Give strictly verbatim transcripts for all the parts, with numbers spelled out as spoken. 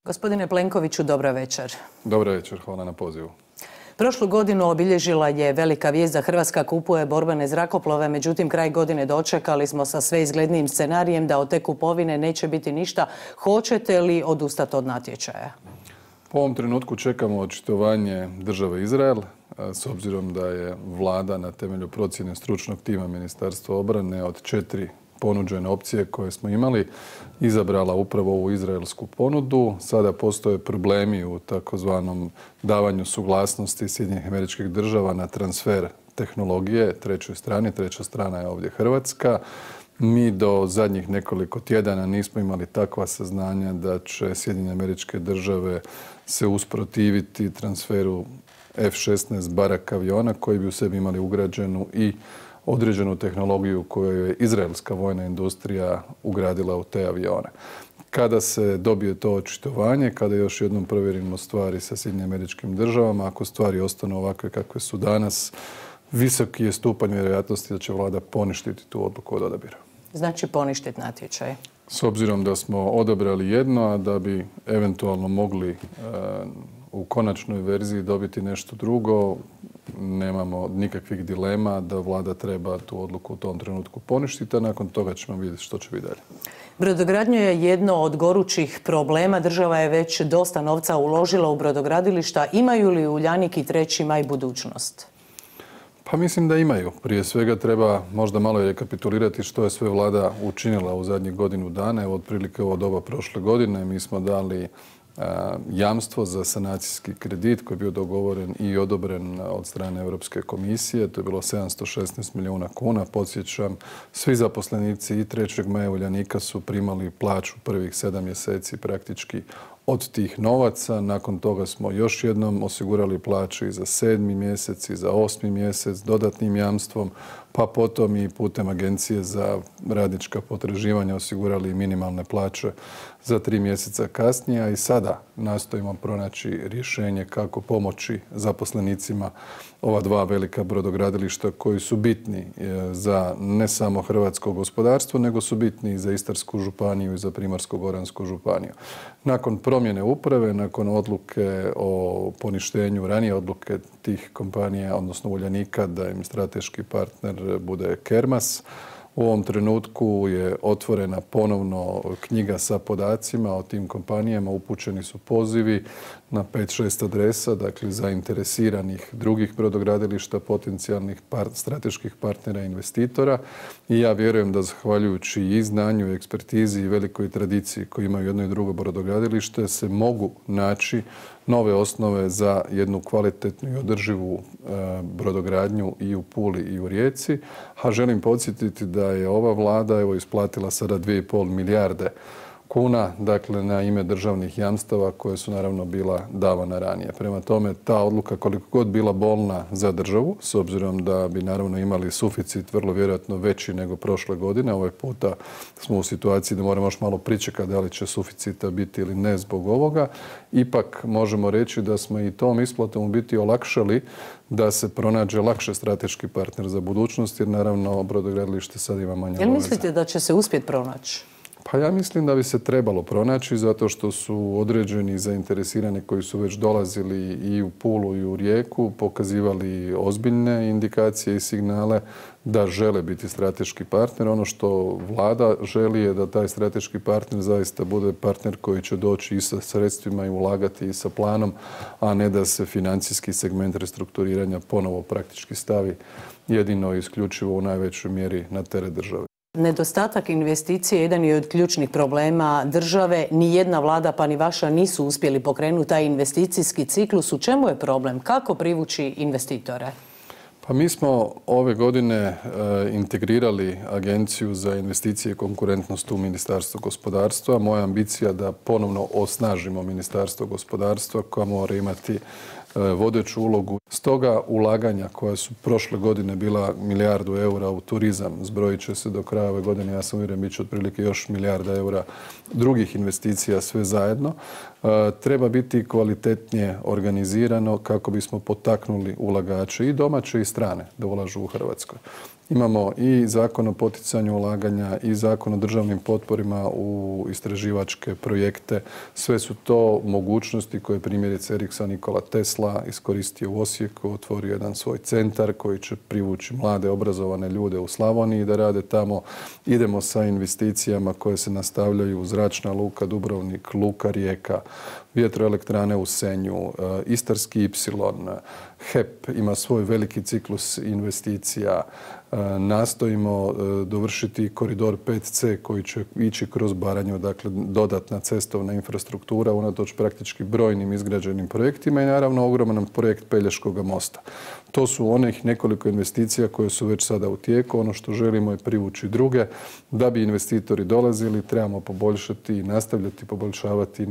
Gospodine Plenkoviću, dobra večer. Dobra večer, hvala na pozivu. Prošlu godinu obilježila je velika vijest da Hrvatska kupuje borbene zrakoplove, međutim kraj godine dočekali smo sa sve izglednijim scenarijem da od te kupovine neće biti ništa. Hoćete li odustati od natječaja? U ovom trenutku čekamo očitovanje države Izrael, s obzirom da je vlada na temelju procjene stručnog tima Ministarstva obrane od četiri ponuđene opcije koje smo imali izabrala upravo ovu izraelsku ponudu. Sada postoje problemi u takozvanom davanju suglasnosti Sjedinjenih Američkih Država na transfer tehnologije trećoj strani. Treća strana je ovdje Hrvatska. Mi do zadnjih nekoliko tjedana nismo imali takva saznanja da će Sjedinjene Američke Države se usprotiviti transferu F šesnaest Barak aviona koji bi u sebi imali ugrađenu i određenu tehnologiju koju je izraelska vojna industrija ugradila u te avione. Kada se dobije to očitovanje, kada još jednom provjerimo stvari sa Sjedinjenim Američkim Državama, ako stvari ostanu ovakve kakve su danas, visoki je stupanj vjerojatnosti da će vlada poništiti tu odluku od odabira. Znači poništiti natječaj? S obzirom da smo odabrali jedno, a da bi eventualno mogli e, u konačnoj verziji dobiti nešto drugo, nemamo nikakvih dilema da vlada treba tu odluku u tom trenutku poništiti, a nakon toga ćemo vidjeti što će biti dalje. Brodogradnja je jedno od gorućih problema. Država je već dosta novca uložila u brodogradilišta. Imaju li Uljanik i treći maj budućnost? Pa mislim da imaju. Prije svega treba možda malo rekapitulirati što je sve vlada učinila u zadnjih godinu dana. Evo, otprilike ovo doba prošle godine mi smo dali jamstvo za sanacijski kredit koji je bio dogovoren i odobren od strane Europske komisije. To je bilo sedamsto šesnaest milijuna kuna. Podsjećam, svi zaposlenici i trećeg maja Uljanika su primali plaću prvih sedam mjeseci praktički od tih novaca. Nakon toga smo još jednom osigurali plaću i za sedmi mjesec i za osmi mjesec dodatnim jamstvom, pa potom i putem Agencije za radnička potraživanja osigurali minimalne plaće za tri mjeseca kasnije, a i sada nastojimo pronaći rješenje kako pomoći zaposlenicima ova dva velika brodogradilišta koji su bitni za ne samo hrvatsko gospodarstvo, nego su bitni i za Istarsku županiju i za Primorsko-goransku županiju. Nakon promjene uprave, nakon odluke o poništenju, ranije odluke tih kompanija, odnosno Uljanika, da im strateški partner bude Kermas, u ovom trenutku je otvorena ponovno knjiga sa podacima o tim kompanijama. Upućeni su pozivi na pet šest adresa, dakle zainteresiranih drugih brodogradilišta, potencijalnih par, strateških partnera i investitora. I ja vjerujem da zahvaljujući i znanju, i ekspertizi i velikoj tradiciji koju imaju jedno i drugo brodogradilište se mogu naći nove osnove za jednu kvalitetnu i održivu e, brodogradnju i u Puli i u Rijeci. A želim podsjetiti da je ova vlada evo isplatila sada dvije i pol milijarde kuna, dakle na ime državnih jamstava koje su naravno bila davana ranije. Prema tome, ta odluka koliko god bila bolna za državu, s obzirom da bi naravno imali suficit vrlo vjerojatno veći nego prošle godine, ovaj puta smo u situaciji da moramo još malo pričekati da li će suficita biti ili ne zbog ovoga, ipak možemo reći da smo i tom isplatom u biti olakšali da se pronađe lakše strateški partner za budućnost, jer naravno brodogradilište sad ima manje obaveza. Jel mislite da će se uspjeti pronaći? Pa ja mislim da bi se trebalo pronaći zato što su određeni zainteresirani koji su već dolazili i u Pulu i u Rijeku, pokazivali ozbiljne indikacije i signale da žele biti strateški partner. Ono što vlada želi je da taj strateški partner zaista bude partner koji će doći i sa sredstvima i ulagati i sa planom, a ne da se financijski segment restrukturiranja ponovo praktički stavi jedino i isključivo u najvećoj mjeri na teret države. Nedostatak investicije jedan je od ključnih problema države. Ni jedna vlada pa ni vaša nisu uspjeli pokrenuti taj investicijski ciklus. U čemu je problem? Kako privući investitore? Pa mi smo ove godine e, integrirali Agenciju za investicije i konkurentnost u Ministarstvo gospodarstva. Moja ambicija da ponovno osnažimo Ministarstvo gospodarstva koja mora imati vodeću ulogu. Stoga ulaganja koja su prošle godine bila milijardu eura u turizam, zbrojit će se do kraja ove godine, ja sam uvjeren, bit će otprilike još milijarda eura drugih investicija sve zajedno. Treba biti kvalitetnije organizirano kako bismo potaknuli ulagače i domaće i strane da ulažu u Hrvatskoj. Imamo i zakon o poticanju ulaganja i zakon o državnim potporima u istraživačke projekte. Sve su to mogućnosti koje primjerice Ericsson Nikola Tesla iskoristio u Osijeku, otvorio jedan svoj centar koji će privući mlade obrazovane ljude u Slavoniji da rade tamo. Idemo sa investicijama koje se nastavljaju u Zračna luka Dubrovnik, Luka Rijeka, vjetroelektrane u Senju, Istarski ipsilon, H E P ima svoj veliki ciklus investicija. Nastojimo dovršiti koridor pet ce koji će ići kroz Baranju, dakle dodatna cestovna infrastruktura unatoč praktički brojnim izgrađenim projektima i naravno ogroman projekt Pelješkog mosta. To su onih nekoliko investicija koje su već sada u tijeku. Ono što želimo je privući druge. Da bi investitori dolazili, trebamo poboljšati i nastavljati poboljšavati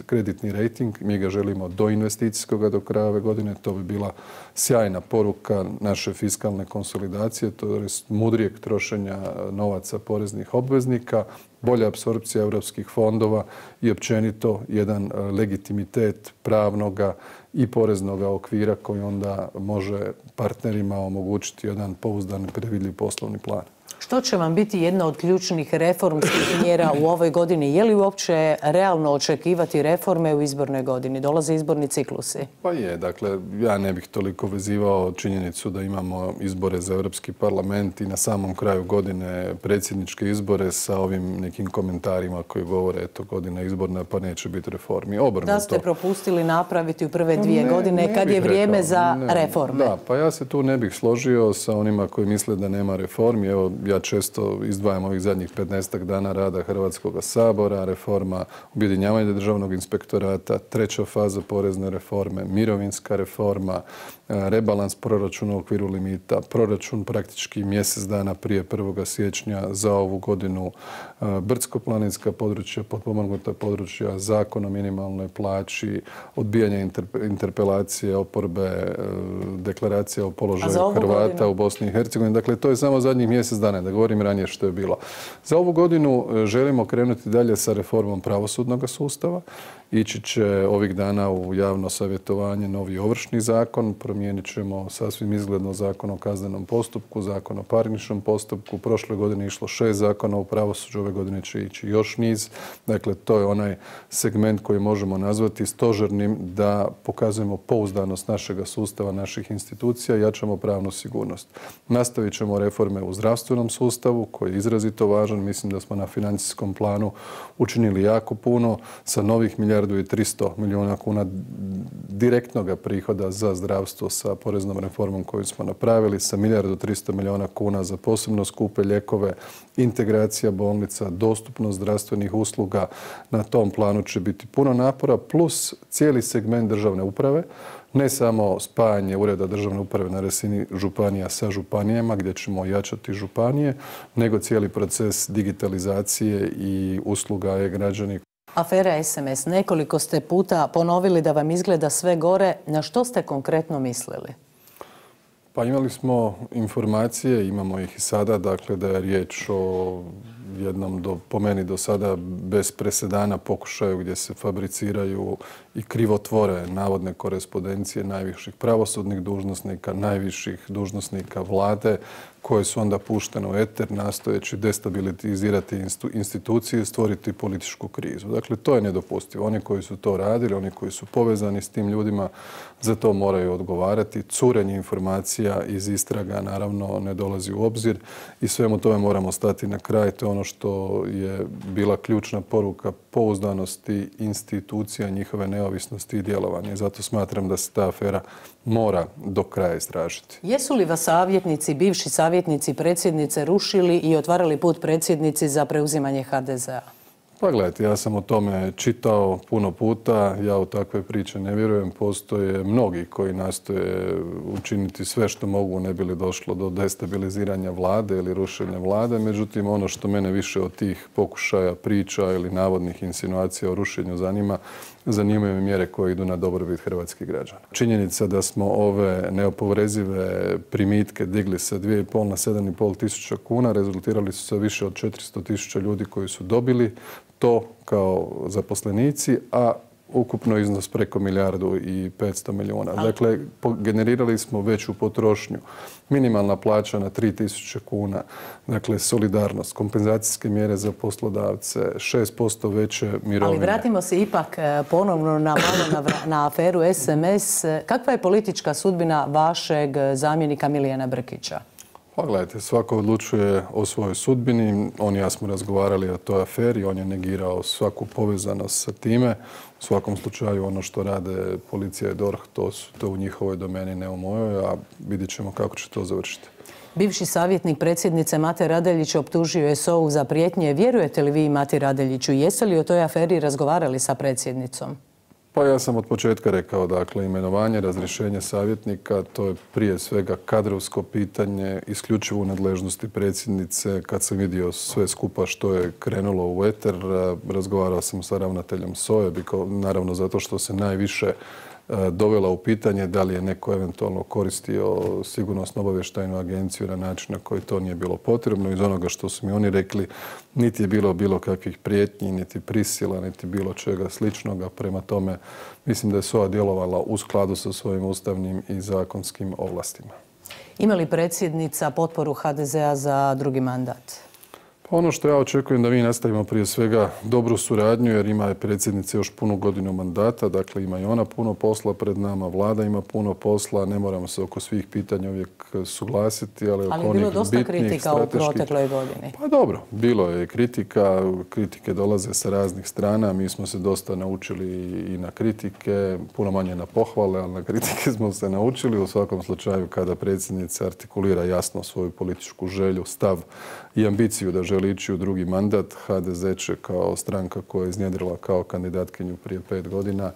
kreditni rejting. Mi ga želimo do investicijskoga do kraja ove godine. To bi bila sjajna poruka naše fiskalne konsolidacije, to je mudrijeg trošenja novaca poreznih obveznika, bolja apsorpcija europskih fondova i općenito jedan legitimitet pravnoga i poreznoga okvira koji onda može partnerima omogućiti jedan pouzdan i predvidljiv poslovni plan. Što će vam biti jedna od ključnih reformskih mjera u ovoj godini? Je li uopće realno očekivati reforme u izbornoj godini? Dolaze izborni ciklusi. Pa je, dakle, ja ne bih toliko vezivao činjenicu da imamo izbore za Europski parlament i na samom kraju godine predsjedničke izbore sa ovim nekim komentarima koji govore eto godina izborna pa neće biti reformi. Obrnuto. Da ste propustili napraviti u prve dvije ne, godine ne kad je vrijeme rekao, za ne, reforme. Da, pa ja se tu ne bih složio sa onima koji misle da nema reformi. Evo, ja često izdvajam ovih zadnjih petnaestak dana rada Hrvatskog sabora, reforma objedinjavanja državnog inspektorata, treća faza porezne reforme, mirovinska reforma, rebalans proračuna u okviru limita, proračun praktički mjesec dana prije prvog siječnja za ovu godinu, brdsko-planinska područja, potpomognuta područja, zakon o minimalnoj plaći, odbijanje interpelacije oporbe, deklaracija o položaju Hrvata godinu? u Bosni i Hercegovini. Dakle, to je samo zadnjih mjesec dana, da govorim ranije što je bilo. Za ovu godinu želimo krenuti dalje sa reformom pravosudnog sustava. Ići će ovih dana u javno savjetovanje novi ovršni zakon, promijenit ćemo sasvim izgledno zakon o kaznenom postupku, zakon o parničnom postupku. Prošle godine išlo šest zakona u pravosuđu, ove godine će ići još niz. Dakle, to je onaj segment koji možemo nazvati stožernim da pokazujemo pouzdanost našega sustava, naših institucija i jačamo pravnu sigurnost. Nastavit ćemo reforme u zdravstvenom sustavu koji je izrazito važan. Mislim da smo na financijskom planu učinili jako puno sa novih milijardu i tristo milijuna kuna direktnog prihoda za zdravstvo sa poreznom reformom koju smo napravili, sa milijardu tristo milijuna kuna za posebno skupe lijekove, integracija bolnica, dostupnost zdravstvenih usluga. Na tom planu će biti puno napora, plus cijeli segment državne uprave. Ne samo spajanje ureda državne uprave na razini županija sa županijama gdje ćemo jačati županije, nego cijeli proces digitalizacije i usluga e-građani. Afera es em es. Nekoliko ste puta ponovili da vam izgleda sve gore. Na što ste konkretno mislili? Pa imali smo informacije, imamo ih i sada, dakle da je riječ o jednom, do, po meni do sada bez presedana pokušaju gdje se fabriciraju i krivotvore navodne korespondencije najviših pravosudnih dužnosnika, najviših dužnosnika vlade, koje su onda puštene u eter nastojeći destabilizirati institucije i stvoriti političku krizu. Dakle, to je nedopustivo. Oni koji su to radili, oni koji su povezani s tim ljudima, za to moraju odgovarati. Curenje informacija iz istraga naravno ne dolazi u obzir i svemu tome moramo stati na kraj. To je ono što je bila ključna poruka pouzdanosti institucija, njihove neovisnosti i djelovanja. I zato smatram da se ta afera mora do kraja istražiti. Jesu li vas savjetnici, bivši savjetnici predsjednice rušili i otvarali put predsjednici za preuzimanje ha de zea? Pa gledajte, ja sam o tome čitao puno puta, ja u takve priče ne vjerujem. Postoje mnogi koji nastoje učiniti sve što mogu ne bi li došlo do destabiliziranja vlade ili rušenja vlade. Međutim, ono što mene više od tih pokušaja, priča ili navodnih insinuacija o rušenju zanima, zanimaju me mjere koje idu na dobrobit hrvatskih građana. Činjenica da smo ove neoporezive primitke digli sa dvije i pol na sedam i pol tisuća kuna rezultirali su sa više od četiristo tisuća ljudi koji su dobili to kao zaposlenici, a ukupno iznos preko milijardu i petsto milijuna. Dakle, generirali smo veću potrošnju. Minimalna plaća na tri tisuće kuna. Dakle, solidarnost, kompenzacijske mjere za poslodavce, šest posto veće mirovine. Ali vratimo se ipak ponovno na malo na, na aferu S M S. Kakva je politička sudbina vašeg zamjenika Milijana Brkića? Pa gledajte, svako odlučuje o svojoj sudbini. On i ja smo razgovarali o toj aferi, on je negirao svaku povezanost sa time. U svakom slučaju ono što rade policija i D O R H, to su to u njihovoj domeni, ne u mojoj, a vidjet ćemo kako će to završiti. Bivši savjetnik predsjednice Mate Radeljić optužio je S O U za prijetnje. Vjerujete li vi Mati Radeljiću? Jeste li o toj aferi razgovarali sa predsjednicom? Pa ja sam od početka rekao, dakle, imenovanje, razrješenje savjetnika, to je prije svega kadrovsko pitanje, isključivo u nadležnosti predsjednice. Kad sam vidio sve skupa što je krenulo u eter, razgovarao sam sa ravnateljem S O E, naravno zato što se najviše dovela u pitanje da li je neko eventualno koristio sigurnosno-obavještajnu agenciju na način na koji to nije bilo potrebno. Iz onoga što su mi oni rekli, niti je bilo bilo kakvih prijetnji, niti prisila, niti bilo čega sličnoga. Prema tome, mislim da je S O A djelovala u skladu sa svojim ustavnim i zakonskim ovlastima. Ima li predsjednica potporu H D Z-a za drugi mandat? Ono što ja očekujem da mi nastavimo prije svega dobru suradnju, jer ima je predsjednica još punu godinu mandata, dakle ima i ona puno posla pred nama, vlada ima puno posla, ne moramo se oko svih pitanja uvijek suglasiti, ali oko onih bitnijih, ali je bilo dosta kritika u protekloj godini. Pa dobro, bilo je kritika, kritike dolaze sa raznih strana, mi smo se dosta naučili i na kritike, puno manje na pohvale, ali na kritike smo se naučili. U svakom slučaju kada predsjednica artikulira jasno svoju političku želju, stav i ambiciju da želi ići u drugi mandat, H D Z će kao stranka koja je iznjedrila kao kandidatkinju prije pet godina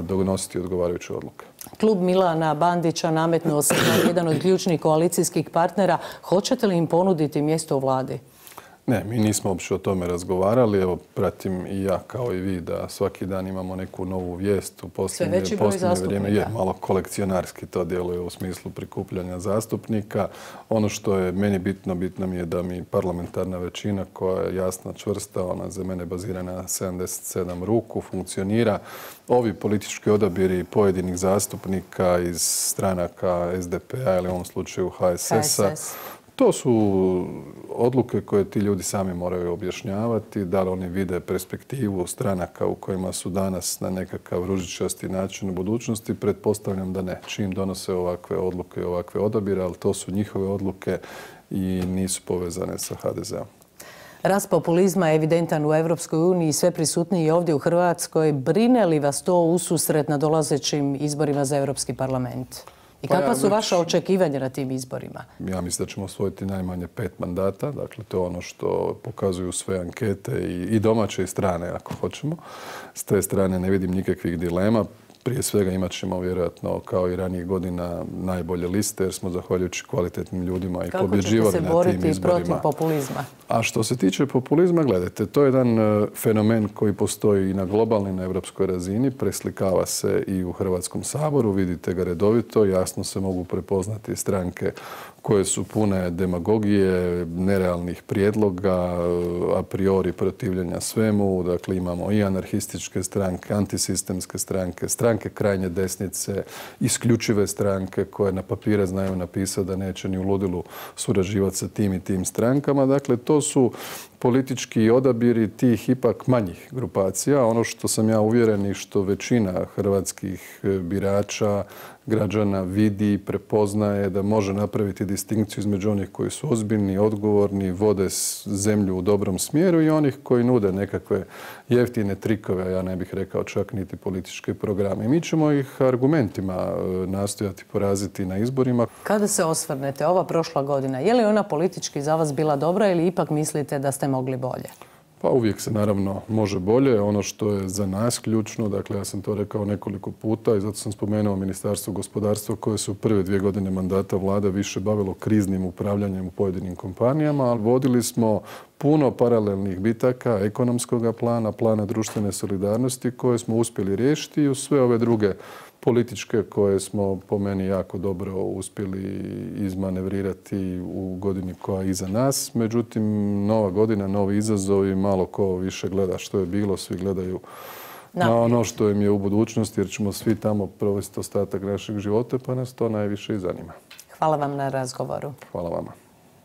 donositi odgovarajuće odluke. Klub Milana Bandića nametnuo se kao jedan od ključnih koalicijskih partnera. Hoćete li im ponuditi mjesto u vladi? Ne, mi nismo uopće o tome razgovarali. Evo, pratim i ja kao i vi da svaki dan imamo neku novu vijest u posljednje, posljednje vrijeme. Je malo kolekcionarski to djeluje u smislu prikupljanja zastupnika. Ono što je meni bitno, bitno mi je da mi parlamentarna većina koja je jasna, čvrsta, ona za mene bazira na sedamdeset sedam ruku, funkcionira. Ovi politički odabiri pojedinih zastupnika iz stranaka S D P-a ili u ovom slučaju H S S-a, to su odluke koje ti ljudi sami moraju objašnjavati, da li oni vide perspektivu stranaka u kojima su danas na nekakav ružičasti način u budućnosti. Pretpostavljam da ne. Čim donose ovakve odluke i ovakve odabire, ali to su njihove odluke i nisu povezane sa H D Z-om. Rast populizma je evidentan u Europskoj uniji i sve prisutniji ovdje u Hrvatskoj. Brine li vas to ususret na dolazećim izborima za Europski parlament? I kakva su vaša očekivanja na tim izborima? Ja mislim da ćemo osvojiti najmanje pet mandata. Dakle, to je ono što pokazuju sve ankete i domaće i strane, ako hoćemo. S te strane ne vidim nikakvih dilema. Prije svega imat ćemo vjerojatno kao i ranijih godina najbolje liste jer smo zahvaljujući kvalitetnim ljudima i pobjeđivali na tim izborima. Kako ćete se boriti protiv populizma? A što se tiče populizma, gledajte, to je jedan fenomen koji postoji i na globalnoj i na europskoj razini. Preslikava se i u Hrvatskom saboru, vidite ga redovito, jasno se mogu prepoznati stranke koje su pune demagogije, nerealnih prijedloga, a priori protivljenja svemu. Dakle, imamo i anarhističke stranke, antisistemske stranke, stranke krajnje desnice, isključive stranke koje na papire znaju napisati da neće ni u ludilu surađivati sa tim i tim strankama. Dakle, to su politički odabiri tih ipak manjih grupacija. Ono što sam ja uvjeren i što većina hrvatskih birača, građana vidi, prepoznaje da može napraviti distinkciju između onih koji su ozbiljni, odgovorni, vode zemlju u dobrom smjeru i onih koji nude nekakve jeftine trikove, a ja ne bih rekao čak niti političke programe. I mi ćemo ih argumentima nastojati poraziti na izborima. Kada se osvrnete, ova prošla godina, je li ona politički za vas bila dobra ili ipak mislite da ste mogli bolje? Pa uvijek se naravno može bolje. Ono što je za nas ključno, dakle ja sam to rekao nekoliko puta i zato sam spomenuo Ministarstvo gospodarstva koje se u prve dvije godine mandata vlade više bavilo kriznim upravljanjem u pojedinim kompanijama, ali vodili smo puno paralelnih bitaka, ekonomskog plana, plana društvene solidarnosti koje smo uspjeli riješiti i uz sve ove druge političke koje smo po meni jako dobro uspjeli izmanevrirati u godini koja je iza nas. Međutim, nova godina, novi izazovi, malo ko više gleda što je bilo, svi gledaju na ono što im je u budućnosti, jer ćemo svi tamo provesti ostatak našeg života, pa nas to najviše i zanima. Hvala vam na razgovoru. Hvala vama.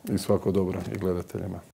I svako dobro i gledateljima.